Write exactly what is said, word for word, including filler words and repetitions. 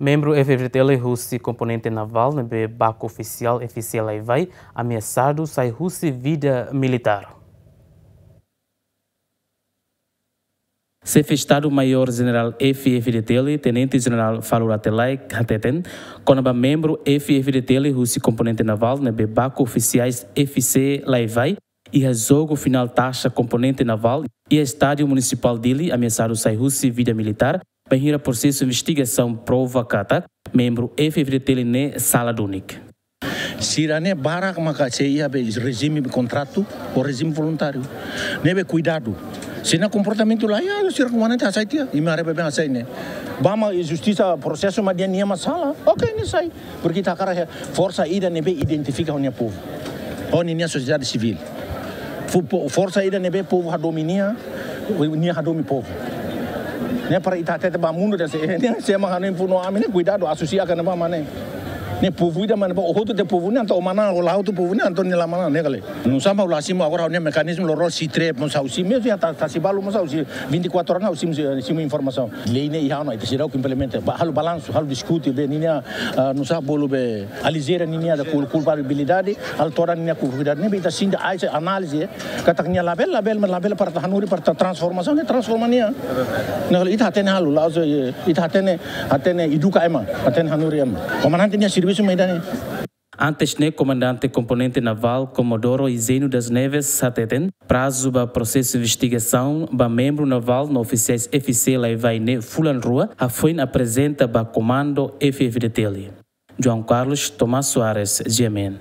Membru F-FDTL husi komponente navál ne'ebé baku ofisiál F-C Laivai ameasadu sai husi vida militár. Xefe Estadu-Maiór Jenerál F-FDTL, Tenente Jenerál Falur Rate Laek, hateten kona-ba membru F-FDTL husi komponente navál ne'ebé baku ofisiais F-C Laivai iha jogu finál taxa komponente navál iha Estádiu Munisipál Dili ameasadu sai husi vida militár, bainhira prosesu investigasaun prova katak membru F-FDTL ne'e sala duni. Sira-ne'e barak maka sei iha be rejime kontratu ou rejime voluntáriu. Ne'ebé kuidadu. Se nia komportamentu la iha, sira komandante hasai tiha, imi haree baibain hasai ne'e. Ba mak justisa prosesu mak dehan nia mak sala. Oke, nia sai. Porke ita hakarak iha forsa ida ne'ebé identifika ho nia povu, ho ninia sosiedade sivíl. Fu-, po-, forsa ida ne'ebé povu hadomi nia, nia hadomi povu. Ne'e para ita hatete ba mundu dehan se, ne'e se ema hanesan funu ami ne'e kuidadu, asosiasaun ne'ebá mak ne'e. Ne'e povu ida mak ne'e ba, o hotu tiha povu ne'e, entaun o manán, o la hotu povu ne'e, entaun nia la manán, ne'e ka lae. Nusá mak ha'u la simu agora, ne'e mekanizmu loroloos, SITRE, mós ha'u simu, mezmu iha ta-, Tasi Balu mós ha'u simu, vinte e quatro horas ha'u simu, simu informasaun. Lei ne'e iha ona, ita seidauk implementa. Ba, halo balansu, halo diskute, be ninia, ah, nusá bolu be, alijeira ninia da kul-, kulpabilidade, halo todan ninia kulpabilidade. Ne'ebé ita sente ai se análize, katak nia labele, labele, labele para ita hanorin, para ita transformasaun, ne'e transforma nia. Ne'e ka lae, ita hatene halo, la'ós, eh, ita hatene, hatene eduka ema, hatene hanorin ema. Komandante nia servisu mak ida-ne'e. Antes ne'e, Komandante Komponente Navál Comodoro Higino das Neves hateten, prazu ba prosesu investigasaun ba membru navál no ofisiais F-C Laivai ne'e fulan rua, hafoin aprezenta ba komandu F-FDTL. João Carlos, Tomás Soares, G M N.